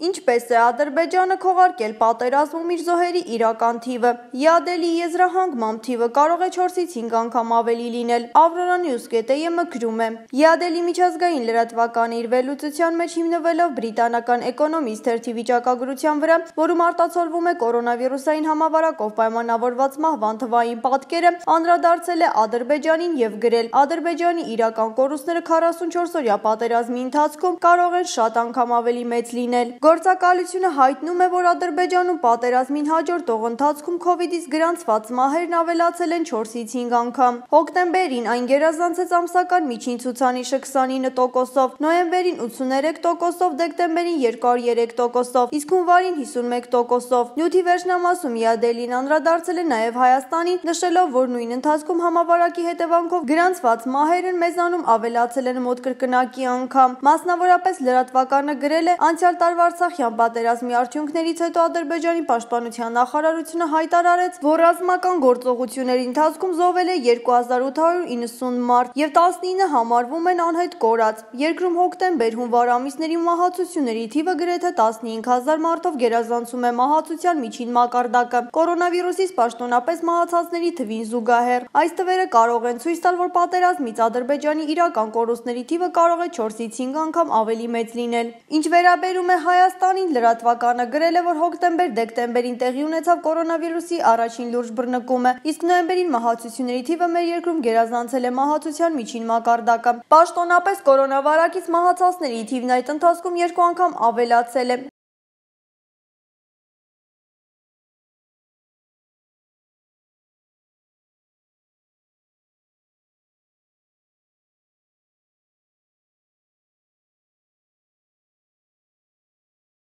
Ինչպես է Ադրբեջանը քողարկել պատերազմում իր զոհերի իրական թիվը։ Յադելի եզրահանգման թիվը կարող է 4-ից 5 անգամ ավելի լինել։ Aurora News.am-ը գրում է. Յադելի միջազգային լրատվականը իր վերլուծության մեջ հիմնվելով բրիտանական Economist թերթի վիճակագրության վրա, որում արտացոլվում է կորոնավիրուսային համավարակով պայմանավորված մահվան թվային պատկերը, անդրադարձել է Ադրբեջանին եւ գրել. Ադրբեջանի իրական կորուստները 44-օրյա պատերազմի ընթացքում կարող են շատ անգամ ավելի մեծ լինել։ Գործակալությունը հայտնում է, որ Ադրբեջանում պատերազմին հաջորդող ընթացքում COVID-ից գրանցված մահերն ավելացել են 4-ից 5 անգամ։ Հոկտեմբերին այն գերազանցեց ամսական միջին ցուցանիշը 29%-ով, նոյեմբերին 83%-ով, դեկտեմբերին 203%-ով, իսկ հունվարին 51%-ով։ Նյութի վերջնամասում Յադելին անդրադարձել է նաև Հայաստանին, նշելով, որ նույն ընթացքում համավարակի հետևանքով գրանցված մահերն մեզանում ավելացել են մոտ կրկնակի անգամ։ Մասնավորապես լրատվականը գրել է. անցյալ տարվա Արցախյան պատերազմի արդյունքներից հետո Ադրբեջանի պաշտպանության նախարարությունը հայտարարեց, որ ռազմական գործողությունների ընթացքում զոհվել է 2890 մարդ եւ 19 համարվում են անհետ կորած։ Երկրում հոկտեմբեր-հունվար ամիսների մահացությունների թիվը գրեթե 15000 մարդով գերազանցում է մահացության միջին մակարդակը։ Կորոնավիրուսից պաշտոնապես մահացածների թվին զուգահեռ այս թվերը կարող են ցույց տալ, որ պատերազմից Ադրբեջանի իրական կորուստների թիվը կարող է 4-ից 5 անգամ ավելի մեծ լինել։ Ինչ վերաբերում է Հայաստանին, լրատվականը գրել է, որ հոկտեմբեր-դեկտեմբերին տեղի ունեցավ կորոնավիրուսի առաջին լուրջ բռնկումը, իսկ նոյեմբերին մահացությունների թիվը մեր երկրում գերազանցել է մահացության միջին մակարդակը։ Պաշտոնապես կորոնավարակից մահացածների թիվն այդ ընթացքում 2 անգամ ավելացել է։